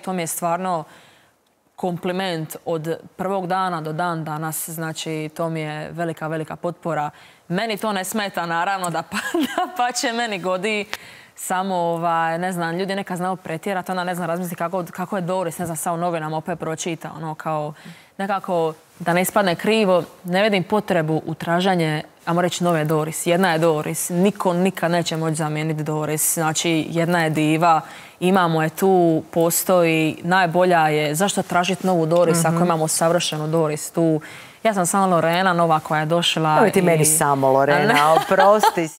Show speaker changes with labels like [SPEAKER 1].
[SPEAKER 1] to mi je stvarno kompliment od prvog dana do dan danas. Znači, to mi je velika, velika potpora. Meni to ne smeta, naravno, da pa će meni godi. Samo, ne znam, ljudi neka znaju pretjerati, ona ne znam razmisliti kako je Doris, ne znam, sad u novinama opet pročita, ono kao nekako da ne ispadne krivo, ne vidim potrebu u tražanje, ajmo reći, nove Doris. Jedna je Doris, niko nikad neće moći zamijeniti Doris, znači jedna je diva, imamo je tu, postoji, najbolja je, zašto tražiti novu Doris ako imamo savršenu Doris tu? Ja sam samo Lorena, nova koja je došla.
[SPEAKER 2] Evo ti meni samo Lorena, oprosti.